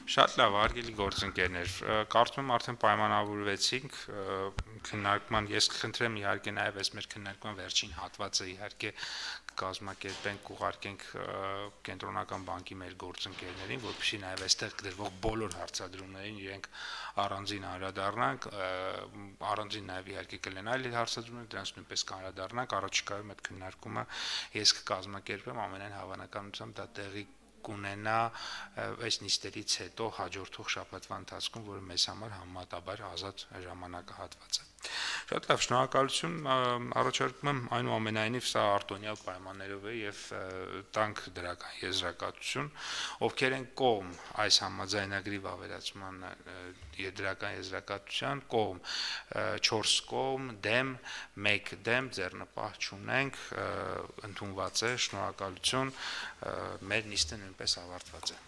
Շատ լավ, հարգելի գործընկերներ, կարծում եմ արդեն պայմանավորվեցինք քննարկման, ես կխնդրեմ իհարկե նաև այս մեր քննարկման վերջին հատվածը իհարկե կկազմակերպենք, կուղարկենք կենտրոնական բանկի մեր գործընկերներին, որպեսզի նաև այստեղ գրվող բոլոր հարցադրումներին իրենք առանձին անդրադառնանք, առանձին նաև իհարկե կլինեն այլ հարցադրումներ, դրանց նույնպես կանդրադառնանք, առաջիկայում այդ քննարկումը ես կկազմակերպեմ, ամենայն հավանականությամբ դա տեղի կունենա այս նիստերից հետո հաջորդող շաբաթվա ընթացքում, որը մեզ համար համեմատաբար ազատ ժամանակահատված է։ Շատ լավ, շնորհակալություն, առաջարկում եմ այնուամենայնիվ սա արտոնյալ պայմաններով է եւ տանք դրական եզրակացություն, ովքեր են կողմ այս համաձայնագրի վավերացման դրական եզրակացության, կողմ 4 կողմ, դեմ, 1 դեմ, ձեռնպահ չունենք, ընդունված է, շնորհակալություն, մեր նիստը նույնպես ավարտված է։